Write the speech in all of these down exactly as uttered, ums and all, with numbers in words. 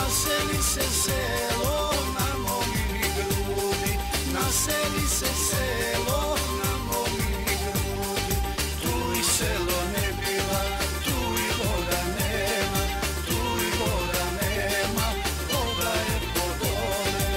Насели се село на момини груди, насели се село на момини груди. Туј село не била, туј вода нема, туј вода нема, вода е подоле.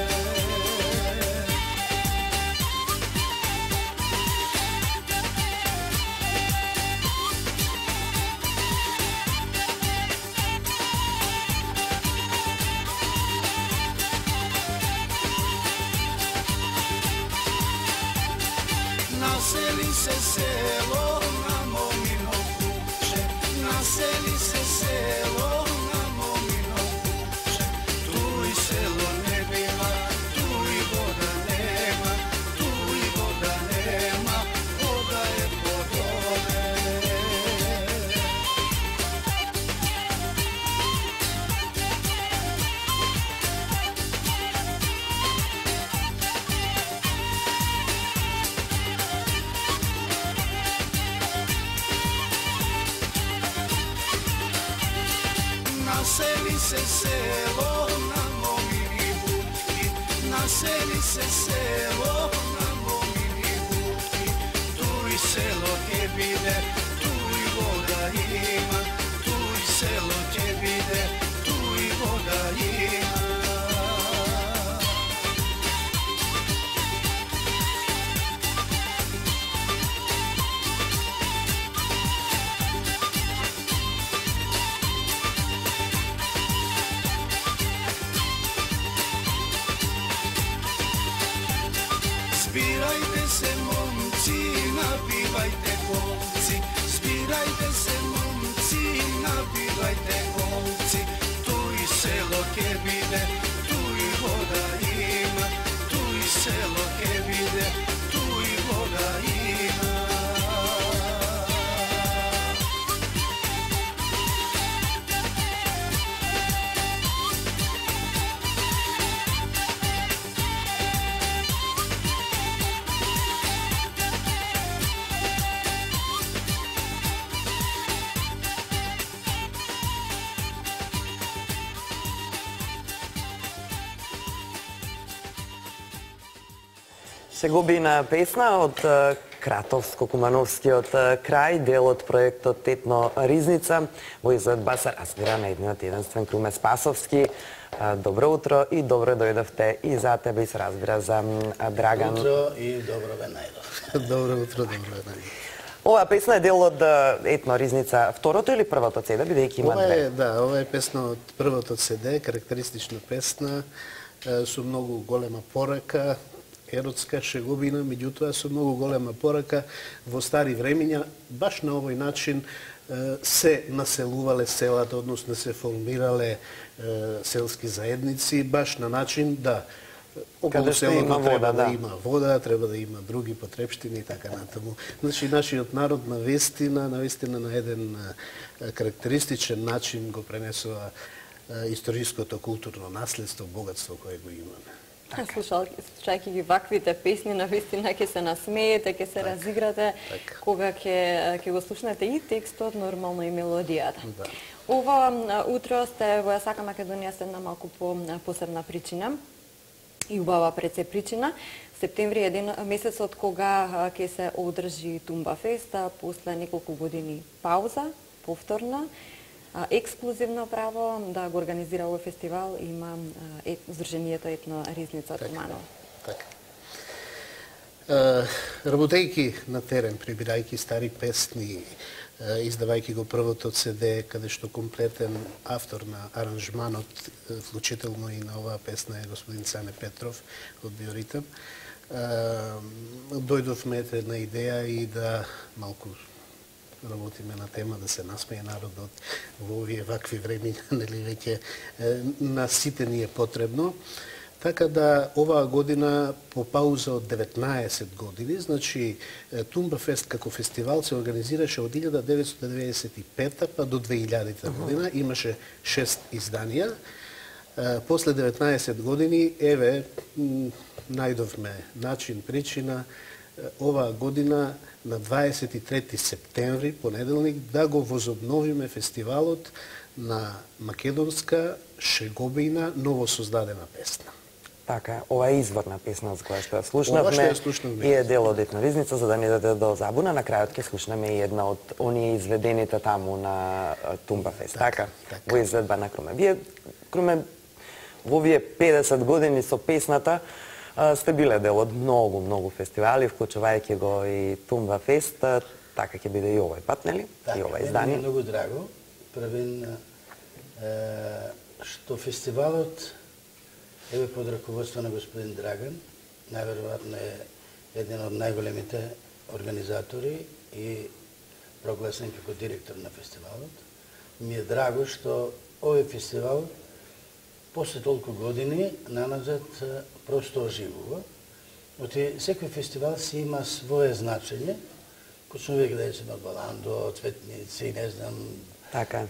Насели се село на момино куче, насели се село на момино куче. Туј село не била, туј вода нема, туј вода нема, вода е подоле. Насели се село на момини бутки, насели се село на момини бутки. Туј село ќе биде, туј вода има, туј село ќе биде, туј вода има. Збирајте се момци, напивајте колци, збирајте се момци, напивајте колци. Туј село ќе биде, туј вода има, туј село ќе биде, туј вода има. Сегобина песна од Кратовско-Кумановскиот крај, дел од проектот Етно Ризница, во изvedба се разбира на едниот единствен Круме Спасовски. Добро утро и добро дојдовте и за тебе и се разбира за Драган. Утро и добро ве најдов. Добро утро, добро ве најдов. Оваа песна е дел од Етно Ризница, второто или првото седе, бидејќи има ова две? Е, да, ова е песна од првото седе, карактеристична песна, со многу голема порака, еротска шегобина, меѓутоа со многу голема порака. Во стари времиња, баш на овој начин се населувале селата, односно се формирале селски заедници, баш на начин да околу селото треба да има вода, треба да има други потрепштини и така натаму. Значи, нашиот народ на вестина, на вестина на еден карактеристичен начин го пренесува историското културно наследство, богатство кое го имаме. Слушајќи ги ваквите песни, навистина ќе се насмеете, ќе се так, разиграте, так. Кога ќе ќе го слушнете и текстот, нормално и мелодијата. Да. Ова утро сте во Сака Македонија се една малку по посебна причина и убава пред се причина. Септември е еден месецот кога ќе се одржи Тумба фест, после неколку години пауза, повторна. Ексклузивно право да го организира овој фестивал има е, Здруженијето Етно Ризница од Куманово. Така. Работејќи на терен, прибирајќи стари песни, издавајќи го првото седе, каде што комплетен автор на аранжманот, вклучително и на оваа песна е господин Цане Петров од Биоритам, дојдовме на идеја и да малку работиме на тема да се насмее народот во овие вакви времиња, нели веќе на сите ни е потребно. Така да оваа година по пауза од деветнаесет години, значи Тумба фест како фестивал се организираше од илјада деветстотини деветдесет и пета па до две илјадите година, имаше шест изданија. После деветнаесет години, еве, најдовме начин, причина, оваа година на дваесет и трети септември, понеделник, да го возобновиме фестивалот на македонска шегобина новосоздадена песна. Така, ова е изворна песна за која што ја слушнавме. Ова што ја слушнавме. И е дел од Етна ризница, за да не даде до забуна. На крајот ќе слушнеме и една од оние изведените таму на Тумба Фест. Така, така, во изведба на Круме. Вие, Круме, во овие педесет години со песната сте биле дел од многу, многу фестивали, вклучувајќи го и Тумба Фест. Така ќе биде и овој пат, нели? Така, и ова издание. Така, многу драго. Првен, што фестивалот еве под раководство на господин Драган, најверојатно е еден од најголемите организатори и прогласен како директор на фестивалот. Ми е драго што овој фестивал после толку години наназад просто оживува. Оти секој фестивал си има свое значење. Почнува веќе да е Баландо, Цветници, не знам. Така.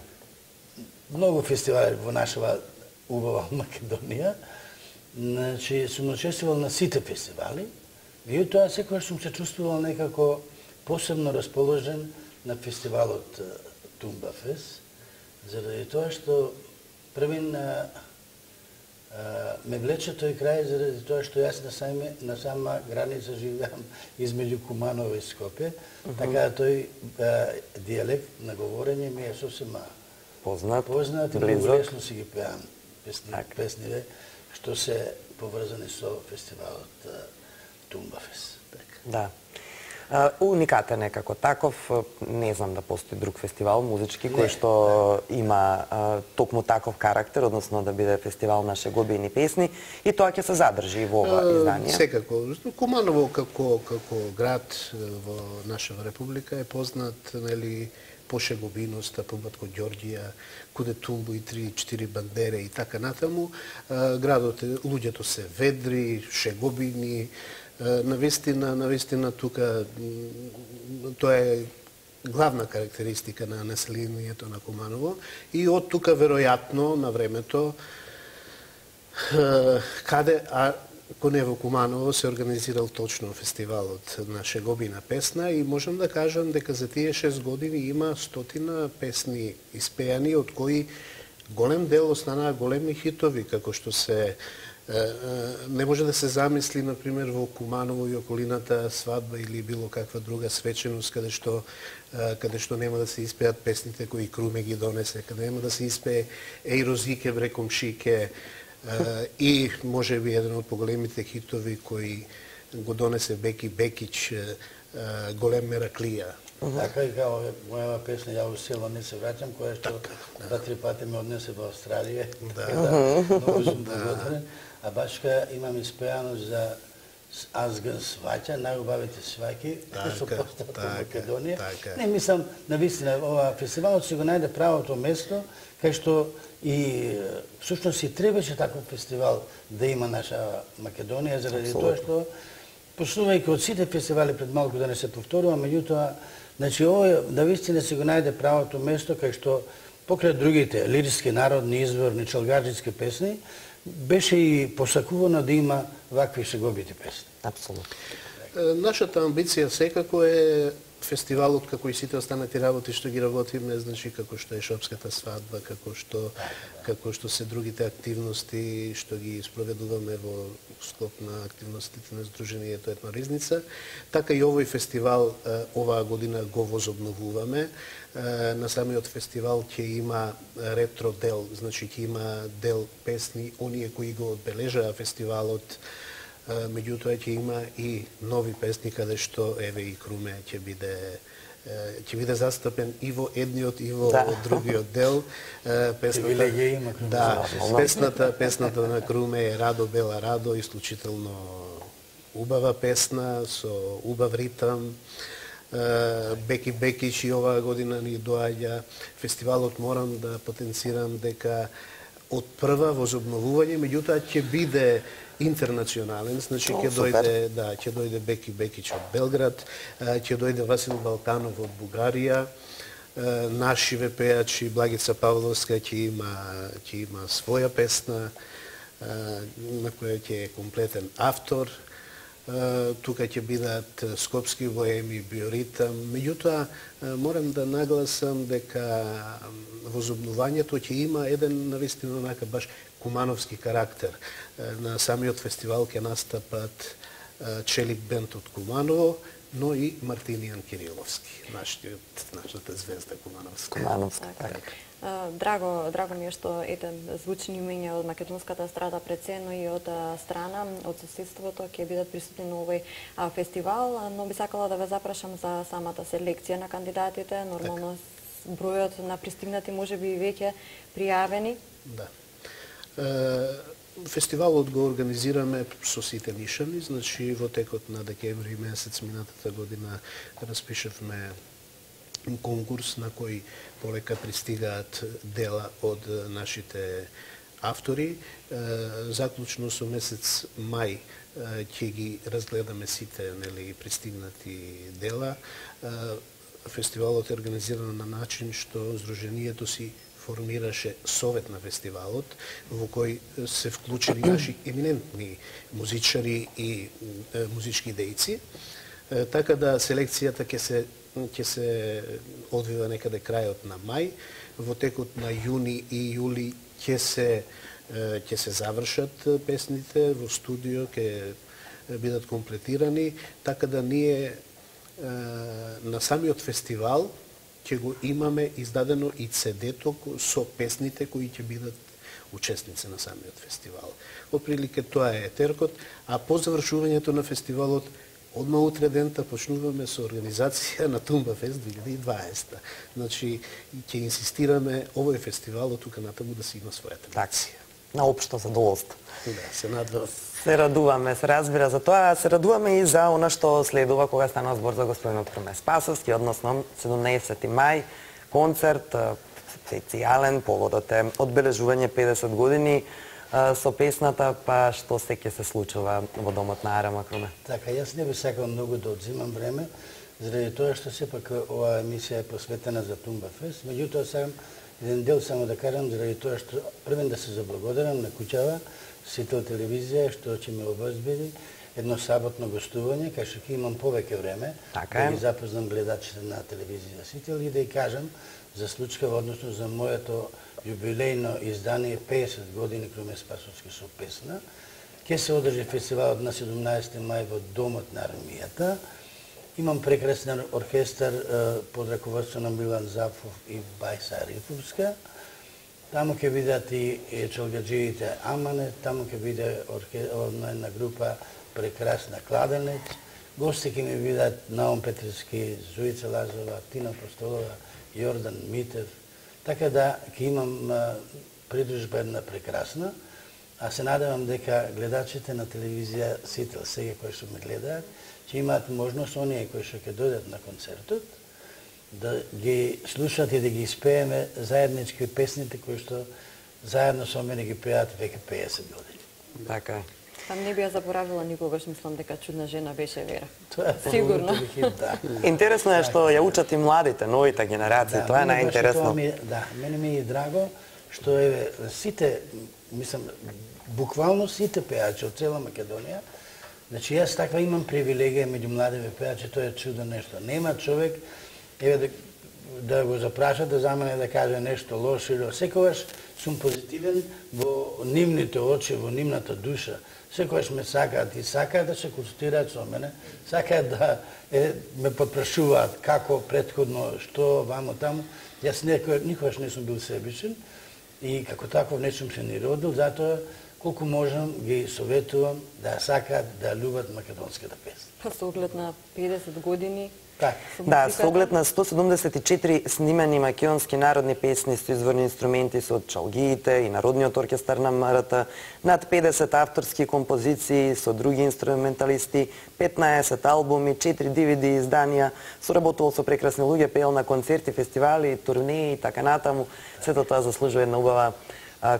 Многу фестивали во нашава убава Македонија. Значи, сум учествувал на сите фестивали, и тоа секогаш сум се чувствувал некако посебно расположен на фестивалот Тумба Фест, заради тоа што првин ме влече тој крај, заради тоа што јас на, саме, на сама граница живеам измеѓу Куманово и Скопје, uh -huh. така да тој а, диалект на говорење ми е сосема познат, познат и многу лесно си ги пеам песни, так. песниве, што се поврзани со фестивалот Тумба Фест. Да. Uh, уникатен е како таков, не знам да постои друг фестивал музички кој што не. има uh, токму таков карактер, односно да биде фестивал на шегобини песни, и тоа ќе се задржи и во ова издание. Секако. Куманово како како град во нашава република е познат, нели, по шегобиноста, по Батко Ѓорѓија, куде тулбу и три-четири бандере и така натаму. Градот, луѓето се ведри, шегобини. Навистина, навистина тука тоа е главна карактеристика на населението на Куманово и од тука веројатно на времето каде а коне во Куманово се организирал точно фестивалот на шегобина песна и можам да кажам дека за тие шест години има стотина песни испеани, од кои голем дел останаа големи хитови, како што се не може да се замисли, например, во Куманово и околината свадба или било каква друга свеченост, каде што, каде што нема да се испеат песните кои Круме ги донесе, каде нема да се испее Еј Розике бре комшике и може би еден од поголемите хитови кои го донесе Беки Бекич, Голем Мераклија. Така и као мојава песна "Ја во село не се враќам", која што два-три пати ме однесе во Австралија. Многу сум благодарен. А башка имам испеано за Азган сваќа, најубавите сваќи, што постат во Македонија. Не, мислам, навистина, ова фестивалот си го најде правото место, кај што и всушност и требаше таков фестивал да има наша Македонија, заради тоа што почнувајќи од сите фестивали пред малку да не се повторува, меѓутоа, значи ова навистина си го најде правото место кај што покрај другите лирски, народни, изворни, чалгаџитски песни, беше и посакувано да има вакви шегобити песни. Апсолутно. Нашата амбиција секако е фестивалот, како и сите останати работи што ги работиме, значи како што е Шопската свадба, како што како што се другите активности што ги спроведуваме во склоп на активностите на Сдруженијето Етна ризница, така и овој фестивал оваа година го возобновуваме. На самиот фестивал ќе има ретро дел, значи ќе има дел песни, оние кои го одбележаа фестивалот, меѓутоа ќе има и нови песни каде што еве и Круме ќе биде ќе биде застапен и во едниот и во да. другиот дел. Песната има Круме. Да, песната песната на Круме е Радо Бела Радо, исклучително убава песна со убав ритам. Беки Бекич и оваа година ни доаѓа. Фестивалот морам да потенцирам дека од прва возобновување, меѓутоа ќе биде интернационален, значи ќе дојде, да, ќе дојде Беки Бекич од Белград, ќе дојде Васил Балтанов од Бугарија, наши пејачи Благица Павловска ќе има ќе има своја песна на која ќе е комплетен автор. тука ќе бидат скопски воеми, биоритам. Меѓутоа, морам да нагласам дека возобнувањето ќе има еден навистина онака баш кумановски карактер. На самиот фестивал ќе настапат Челик бенд од Куманово, но и Мартинијан Кириловски, нашиот, нашата звезда Кумановска. Кумановска, така. Драго, драго ми е што ете звучни имења од македонската страда пред се, но и од страна, од соседството ќе бидат присутни на овој а, фестивал, но би сакала да ве запрашам за самата селекција на кандидатите, нормално так. Бројот на пристигнати можеби и веќе пријавени. Да. Фестивалот го организираме со сите нишани, значи во текот на декември месец минатата година распишевме конкурс на кој полека пристигаат дела од нашите автори. Заклучно со месец мај ќе ги разгледаме сите, нели, пристигнати дела. Фестивалот е организиран на начин што Сдруженијето си формираше совет на фестивалот, во кој се вклучени наши еминентни музичари и е, музички дејци. Е, така да селекцијата ќе се ќе се одвива некаде крајот на мај, во текот на јуни и јули ќе се ќе се завршат песните во студио, ќе бидат комплетирани, така да ние на самиот фестивал ќе го имаме издадено и цедето со песните кои ќе бидат учесници на самиот фестивал. Отприлике тоа е теркот, а по завршувањето на фестивалот одма утре дента почнуваме со организација на Тумба Фест две илјади и дваесета. Значи, ќе инсистираме овој фестивал од тука натаму да си има својата традиција. На општо задоволство. Да, се надвам. Се радуваме, се разбира за тоа, се радуваме и за она што следува кога стана збор за господинот Круме Спасовски, односно седумнаесети мај, концерт, специјален, поводот е одбележување педесет години со песната, па што се ќе се случува во домот на Арама, Круме? Така, јас не би сакал многу да одзимам време, заради тоа што сепак оваа емисија е посветена за Тумба Фест, меѓутоа сакам еден дел само да кажам, заради тоа што првен да се заблагодарам на куќава, Сител телевизија, што ќе ме обезбеди едно саботно гостување, кај што ќе имам повеќе време така да ги запознам гледачите на телевизија Сител и да ја кажам за случкава, односно за моето јубилејно издание педесет години Круме Спасовски со песна. Ќе се одржи фестивалот на седумнаесети мај во Домот на армијата. Имам прекрасен оркестар под раководство на Милан Зафов и Бајса Арифовска. Таму ќе видат и челгаджиите Амане, таму ќе биде една група прекрасна Кладенец. Гости ќе ми видат Наум Петревски, Зуица Лазова, Тина Постолова, Јордан Митев. Така да ќе имам придружба една прекрасна, а се надевам дека гледачите на телевизија Сител сега кои што ме гледаат, ќе имаат можност оние кои што ќе дојдат на концертот да ги слушат и да ги испееме заеднички песните кои што заедно со мене ги пеат веќе педесет години. Така е. Там не би ја заборавила никогаш, мислам дека чудна жена беше Вера. Тоа е сигурно. Да. Интересно е што ја учат и младите, новите генерации, да, тоа е најинтересно. Да, мене ми е драго што е сите, мислам, буквално сите пеачи од цела Македонија. Значи јас таква имам привилегија меѓу младите пеачи, тоа е чудо нешто. Нема човек еве да, да го запрашат да за мене да каже нешто лошо или секогаш сум позитивен во нивните очи, во нивната душа. Секогаш ме сакаат и сакаат да се консултираат со мене, сакаат да е, ме подпрашуваат како претходно, што, вамо, таму. Јас никогаш не сум бил себичен и како таков не сум се ни родил, затоа колку можам ги советувам да сакаат да љубат македонската песна. Па со оглед на педесет години. Так. Да, со оглед на сто седумдесет и четири снимени македонски народни песни со изворни инструменти со чалгиите и Народниот оркестар на МРТ, над педесет авторски композиции со други инструменталисти, петнаесет албуми, четири ди ви ди изданија, соработувал со прекрасни луѓе, пеел на концерти, фестивали, турнеи и така натаму. Сето тоа заслужува една убава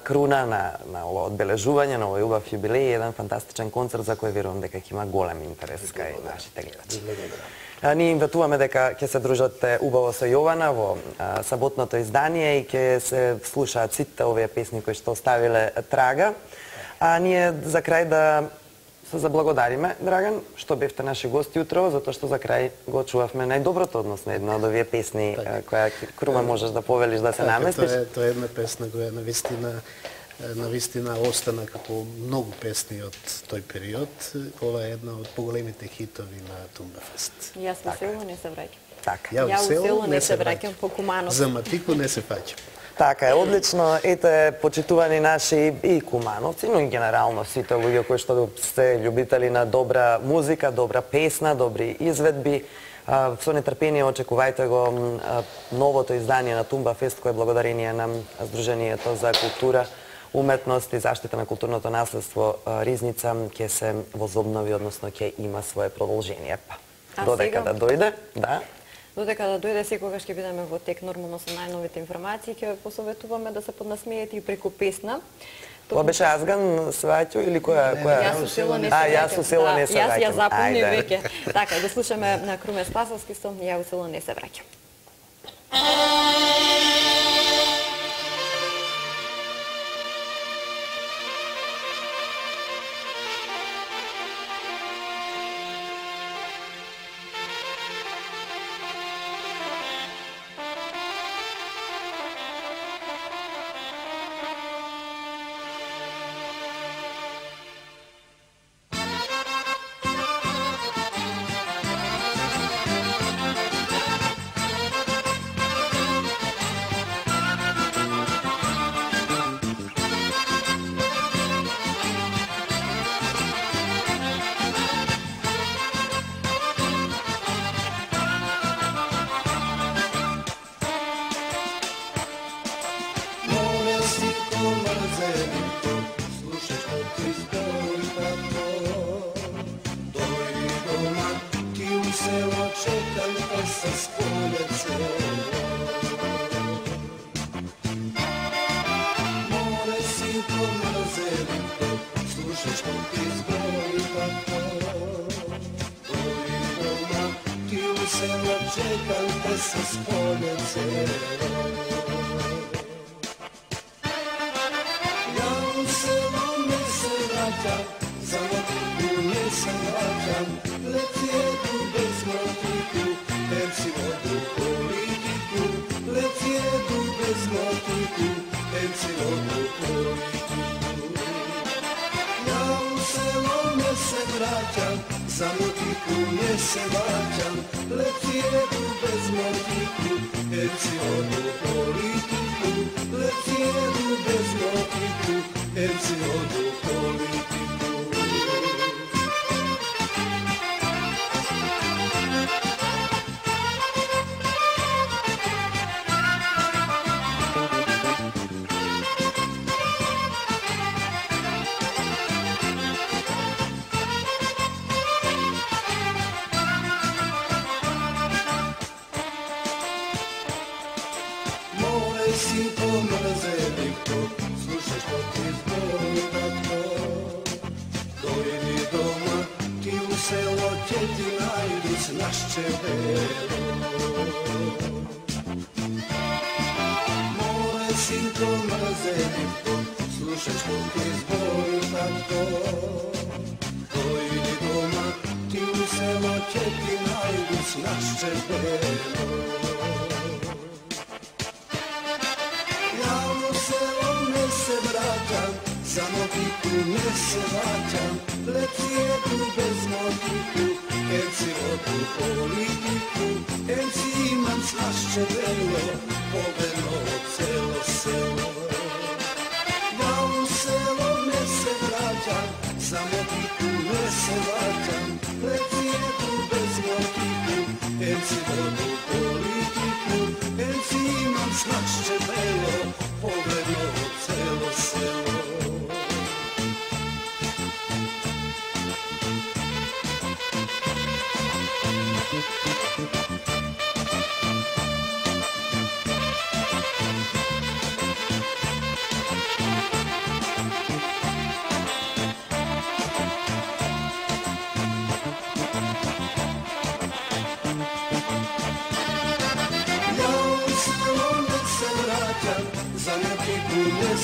круна на, на ова одбележување, на овој убав јубилеј, еден фантастичен концерт за кој верувам дека ќе има голем интерес кај нашите гледачи. Ние им ветуваме дека ќе се дружате убаво со Јована во а, саботното издание и ќе се слушаат сите овие песни кои што оставиле трага. А ние за крај да се заблагодариме, Драган, што бевте наши гости утрово, затоа што за крај го чувавме најдоброто односно една од овие песни која Круме можеш да повелиш да се наместиш. Тоа е, тоа е една песна која навистина навистина остана како многу песни од тој период. Ова е една од поголемите хитови на Тумбафест. Јас во село не се враќам. Така. Ја во село не се враќам по Куманов. За Матико не се фаќам. Така е, одлично. Ете, почитувани наши и кумановци, но и генерално сите луѓе кои што се љубители на добра музика, добра песна, добри изведби. Со нетрпение очекувајте го новото издание на Тумбафест, кое благодарение на Сдруженијето за култура, уметност и заштита на културното наследство Ризница ќе се возобнови, односно ќе има свое продолжение. Додека да дојде, да. Додека да дојде, секогаш ќе бидеме во тек нормално со најновите информации, ќе ве посоветуваме да се поднасмеете и преку песна. Тоа беше Азган Сваќо или која? Јас со село не се враќам. А, јас со село не се враќам. Јас ја запомни веќе. Така, да слушаме на Круме Спасовски со Ја во село не се враќам.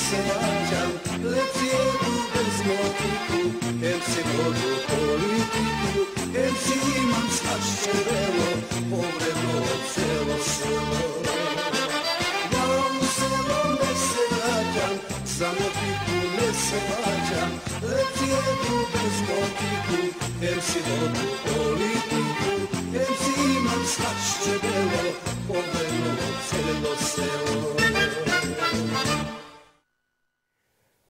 se vayan, le quiero bez motivu, el si vodu politiku, em si imam slašće velo, povredno celo selo. Ja u selo ne se vraćam, samo piku ne se vraćam, leti jedu bez motiku, em si vodu politiku, em si imam slašće velo, povredno celo selo.